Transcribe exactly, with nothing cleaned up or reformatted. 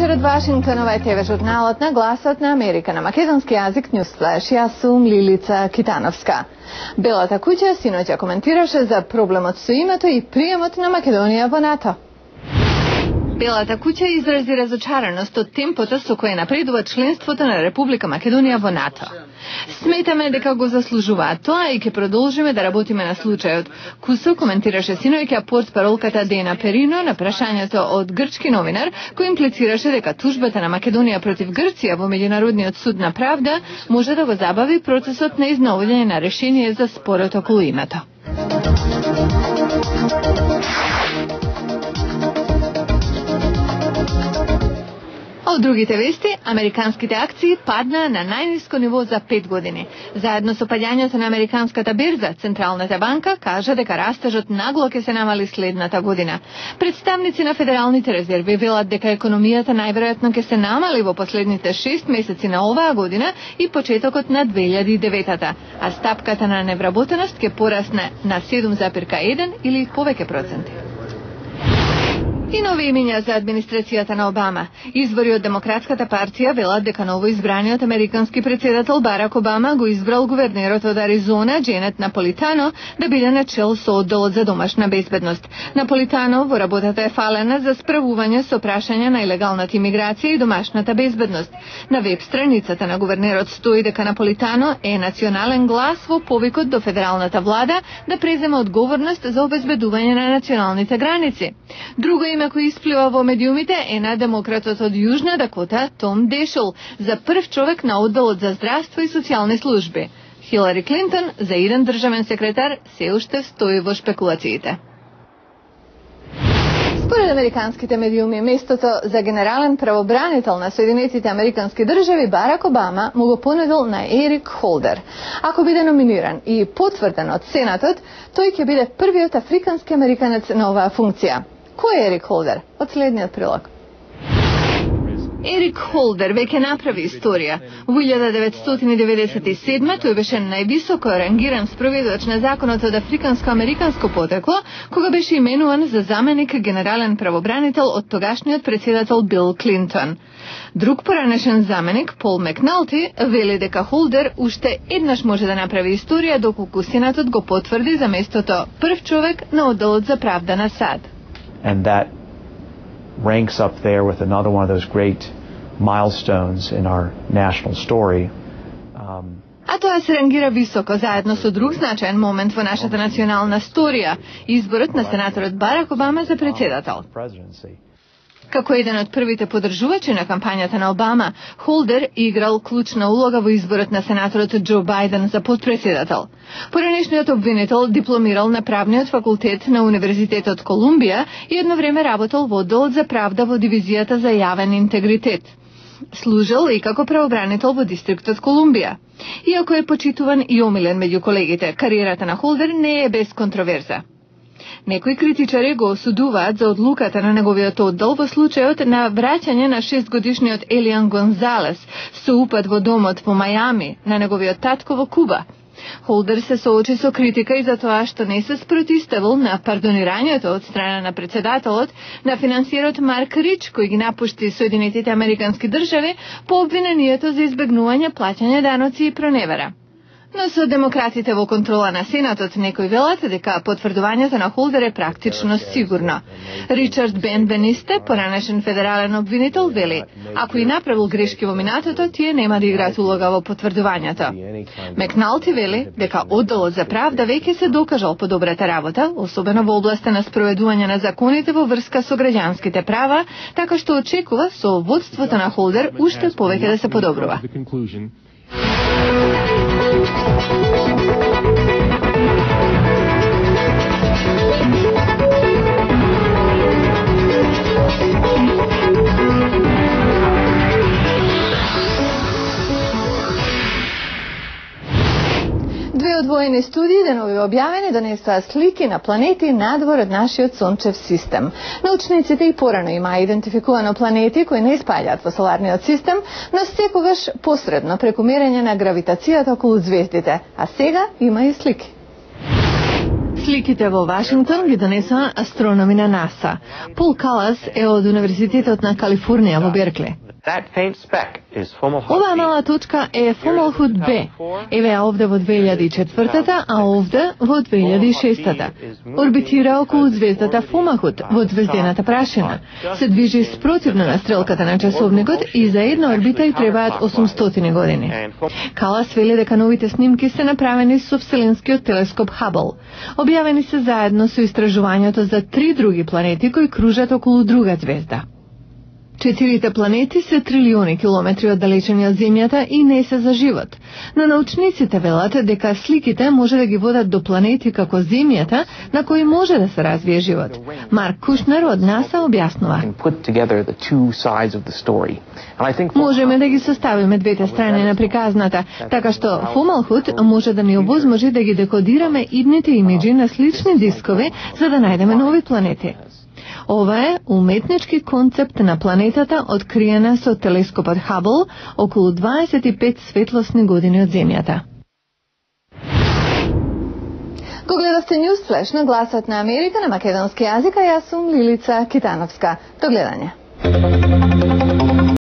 вечер од Вашингтон, ова е ТВ журналот на Гласот на Америка на македонски јазик Newsflash. Јас сум Лилица Китановска. Белата куќа синоќа коментираше за проблемот со името и приемот на Македонија во НАТО. Белата куќа изрази разочараност од темпото со кое напредува членството на Република Македонија во НАТО. Сметаме дека го заслужуваат тоа и ќе продолжиме да работиме на случајот. Кусо коментираше синоќа портпаролката Дена Перино на прашањето од грчки новинар, кој имплицираше дека тужбата на Македонија против Грција во Меѓународниот суд на правда може да го забави процесот на изнаоѓање на решение за спорот околу името. Од другите вести, американските акции паднаа на најниско ниво за пет години. Заедно со падањето на американската берза, Централната банка кажа дека растежот нагло ќе се намали следната година. Представници на федералните резерви велат дека економијата најверојатно ќе се намали во последните шест месеци на оваа година и почетокот на две илјади и девета, а стапката на невработеност ќе порасне на седум зарез еден или повеќе проценти. И нови имиња за администрацијата на Обама. Извори од Демократската партија велат дека новоизбраниот американски председател Барак Обама го избрал гувернерот од Аризона, Дженет Наполитано, да биде на чел со одделот за домашна безбедност. Наполитано во работата е фалена за справување со прашања на илегалната имиграција и домашната безбедност. На веб страницата на гувернерот стои дека Наполитано е национален глас во повикот до федералната влада да преземе одговорност за обезбедување на националните граници. Друго име кој исплива во медиумите е на демократот од Јужна Дакота Том Дешол за прв човек на одделот за здравство и социјални служби. Хилари Клинтон за еден државен секретар се уште стои во шпекулациите. Според американските медиуми, местото за генерален правобранител на Соединетите американски држави Барак Обама му го понудил на Ерик Холдер. Ако биде номиниран и потврден од Сенатот, тој ќе биде првиот африкански американец на оваа функција. Кој е Ерик Холдер? Од следниот прилог. Ерик Холдер веќе направи историја. Во илјада деветстотини деветдесет и седма тој беше највисоко рангиран спроведувач на законот од африканско-американско потекло, кога беше именуван за заменик генерален правобранител од тогашниот председател Бил Клинтон. Друг поранешен заменик, Пол Макналти, вели дека Холдер уште еднаш може да направи историја доколку Сенатот го потврди за местото прв човек на одделот за правда на САД. And that ranks up there with another one of those great milestones in our national story. Um, А тоа се рангира високо заедно со друг значаен момент во нашата национална сторија, изборот на сенаторот Барак Обама за председател. Како еден од првите поддржувачи на кампањата на Обама, Холдер играл клучна улога во изборот на сенаторот Џо Бајден за подпредседател. Поранешниот обвинител дипломирал на правниот факултет на Универзитетот Колумбија и едно време работел во одделот за правда во дивизијата за јавен интегритет. Служел и како правобранител во дистриктот Колумбија. Иако е почитуван и омилен меѓу колегите, кариерата на Холдер не е без контроверза. Некои критичари го осудуваат за одлуката на неговиот оддел во случајот на враќање на шестгодишниот Елиан Гонзалес со упад во домот во Мајами на неговиот татко во Куба. Холдер се соочи со критика и за тоа што не се спротиставил на пардонирањето од страна на председателот на финансиерот Марк Рич, кој ги напушти Соединетите американски држави по обвинението за избегнување плаќање даноци и проневера. Но со демократите во контрола на Сенатот некои велат дека потврдувањето на Холдер е практично сигурно. Ричард Бен Бенисте, поранешен федерален обвинител, вели: ако и направил грешки во минатото, тие нема да играат улога во потврдувањето. Макналти вели дека одделот за правда веќе се докажал по добрата работа, особено во областа на спроведување на законите во врска со граѓанските права, така што очекува со водството на Холдер уште повеќе да се подобрува. Две одвоени студии денови објавени донесоа слики на планети надвор од нашиот сончев систем. Научниците и порано имаа идентификувано планети кои не испаѓаат во соларниот систем, но секогаш посредно преку мерење на гравитацијата околу звездите, а сега има и слики. Сликите во Вашингтон ги донесоа астрономи на НАСА. Пол Калас е од Универзитетот на Калифорнија во Беркли. Оваа мала точка е Фомалхут Б. Еве ја овде во две илјади и четвртата, а овде во две илјади и шестата. Орбитира околу звездата Фомалхут во звездената прашина. Се движи спротивно на стрелката на часовникот и за една орбита й требаат осумстотини години. Калас вели дека новите снимки се направени со Вселенскиот телескоп Хабл. Објавени се заедно со истражувањето за три други планети кои кружат околу друга звезда. Четирите планети се трилиони километри оддалечени од Земјата и не се за живот. Но научниците велат дека сликите може да ги водат до планети како Земјата на кои може да се развие живот. Марк Кушнер од НАСА објаснува. Можеме да ги составиме двете страни на приказната, така што Фомалхут може да ни овозможи да ги декодираме идните имиджи на слични дискови за да најдеме нови планети. Ова е уметнички концепт на планетата откриена со телескопот Хабл околу дваесет и пет светлосни години од Земјата. Го гледавте News Flash на Гласот на Америка на македонски јазик, а јас сум Лилица Китановска. До гледање.